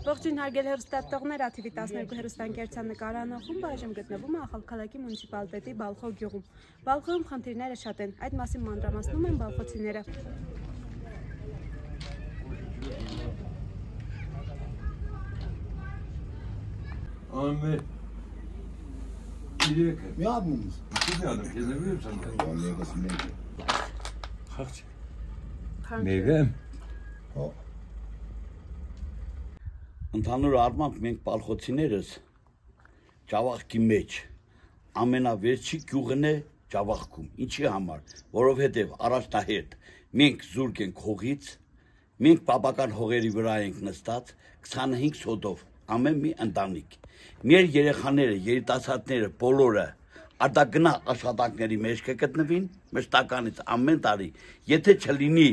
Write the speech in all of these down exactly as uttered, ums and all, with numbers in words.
Ողջույն հարգելի հեռուստատողներ, ա թի վի տասներկու հեռուստաընկերության նկարահանող խումբը այժմ գտնվում է Ախալքալաքի մունիցիպալիտետի Բալխո գյուղում։ Բալխոյում խնդիրները շատ են, այդ մասին մանրամասնում են բալխոցիները։ Anne, iyi ki. Ne yaptınız? İki tane kesebiliyor musun? Vallahi basın meyve. Kaç? Meyve. Ho. Ընդհանուր առմամբ մենք բալխոցիներս Ջավախքի մեջ ամենավերջի գյուղն է Ջավախքում։ Ինչի համար, որովհետև առաջնահերթ մենք զուրկ ենք հողից, մենք բաբական հողերի վրա ենք նստած քսանհինգ սոտով ամեն մի ընտանիք։ Մեր երեխաները, երիտասարդները բոլորը արտագնա աշխատանքների մեջ կգտնվին, մշտականից ամեն տարի, եթե չլինի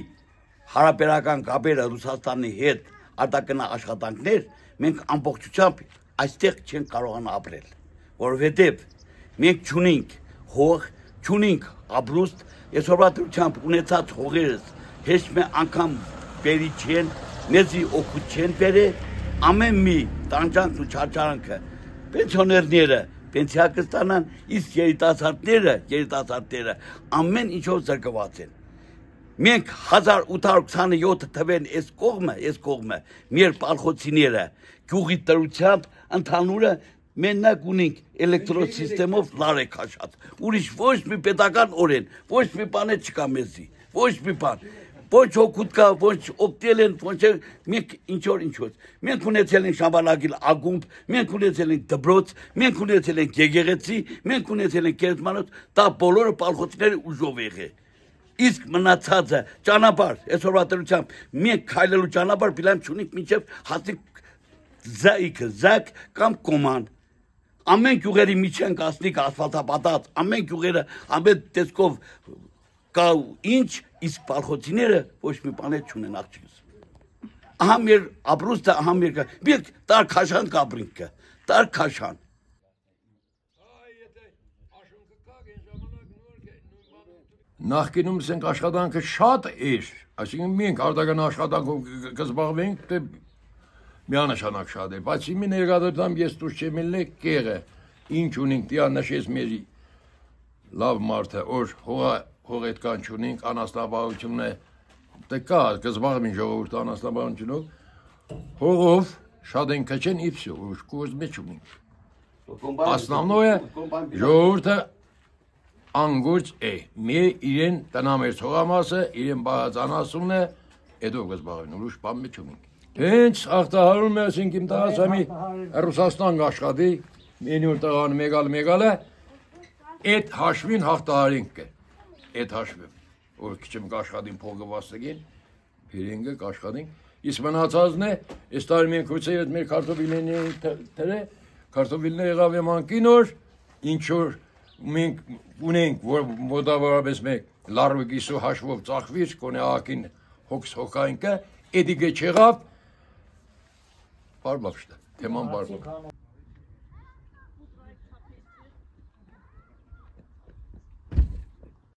հարաբերական կապերը Ռուսաստանի հետ արտագնա աշխատանքներ, մենք ամբողջությամբ այստեղ չենք կարողանա ապրել, որովհետև մենք չունենք հող, չունենք ապրուստ, այսօրվա դրությամբ ունեցած հողերս հեչ մի անգամ բերի չեն, մեզի օգուտ չեն բերել, ամեն մի տանջանքն ու չարչարանքը պենսիոներները պենսիա կստանան, իսկ երիտասարդները, երիտասարդները ամեն ինչով զրկված են։ Մենք հազար ութ հարյուր քսաներկու թվերն այս կողմը, այս կողմը մեր բալխոցիները գյուղի տրությամբ ընդհանուրը մենակ ունենք էլեկտրոսիստեմով լար է քաշած։ Ուրիշ ոչ մի պետական օրեն, ոչ մի բան չկա մեզի, ոչ մի բան։ Ոչ օգուտ կա, ոչ օգտել են, ոչ մենք ինչ-որ ինչ-որ։ Մենք ունեցել ենք շաբանագիլ ագումբ, մենք ունեցել ենք դբրոց, մենք ունեցել ենք եկեղեցի, մենք ունեցել ենք կերտմանոց, դա բոլորը բալխոցիները ուժով եղել։ Իսկ մնացածը ճանապարհ, այսօրվա դրությամբ մենք քայլելու ճանապարհ բիլամ չունենք մինչև հասնենք զայքը, զակ կամ կոման։ Ամեն գյուղերի միջեն կասնիկ ասֆալտապատած, ամեն գյուղերը ամեն տեսքով կա ինչ, իսկ բալխոցիները ոչ մի բան չունեն աղջիկս։ Ահա մեր ապրուստը, ահա մեր մենք տար քաշան կապրինք, տար քաշան։ Նախկինում ասենք աշխատանքը շատ էր, այսինքն մենք արտական աշխատանքով կզբաղվենք, թե միանշանակ շատ էր, բայց իմի ներկայությամբ ես դուրս չեմ ելնել կեղը, ինչ ունենք, դիա նշեց մեր լավ մարդը, որ հողա հողետկան չունենք, անաստաբարությունը դե կա, կզբաղվին ժողովուրդը անաստաբարությունով, հողով շատ են քչեն իպսյո, որ կորզ մեջ ունենք։ Основное ժողովուրդը անգուրջ է, մեր իրեն տնամերց հողամասը, իրեն բաղացանասումն է, էդով կզբաղվին, ուրուշ բան մեջ ունենք։ Հենց աղտահարում է, ասենք իմ տղասամի Ռուսաստան աշխատի, մենյուր տղան մեգալ մեգալ է, էդ հաշվին հաղթահարինք է, էդ հաշվին, որ քիչմ կաշխատին փողը վաստգին, փիրինգը կաշխատին, իսկ մնացածն է, այս տարի մենք հույցը ետ մեր կարտովիլների թրե, կարտովիլներ եղավ եմանքին որ, ինչ որ մենք ունենք, որ մոտավորապես մեկ լարվը գիսու հաշվով ծախվիր, կոնե ակին հոգս հոգայինքը, էդիգը չեղավ, բարբախշտը, թեման բարբախշտը։